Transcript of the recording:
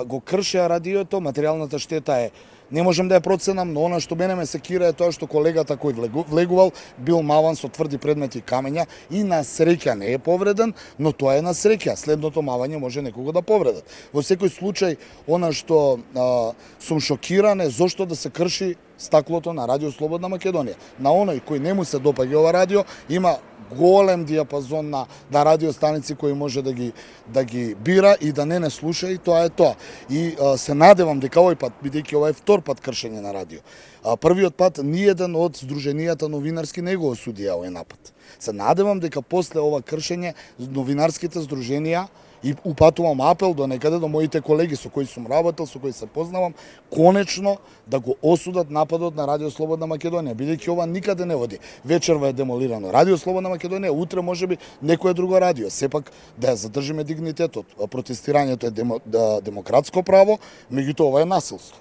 го кршеа радиото, материјалната штета е не можам да ја проценам, но она што мене ме секира е тоа што колегата кој влегувал бил маван со тврди предмети и камења и на среќа не е повреден, но тоа е на среќа. Следното мавање може некого да повредат. Во секој случај, она што сум шокиран е зошто да се крши стаклото на Радио Слободна Македонија. На оној кој не му се допаѓа ова радио, има голем диапазон на радиостаници кои може да ги бира и да не слуша, и тоа е тоа. И се надевам дека овој пат, бидејќи ова е втор пат кршење на радио, првиот пат ниеден од здруженијата новинарски не го осудија овој напад. Се надевам дека после ова кршење новинарските здруженија, и упатувам апел до некаде до моите колеги со кои сум работел, со кои се познавам, конечно да го осудат нападот на Радио Слободна Македонија, бидејќи ова никаде не води. Вечерва е демолирано Радио Слободна Македонија, утре можеби некое друго радио. Сепак да ја задржиме дигнитетот. Протестирањето е демократско право, меѓутоа ова е насилство.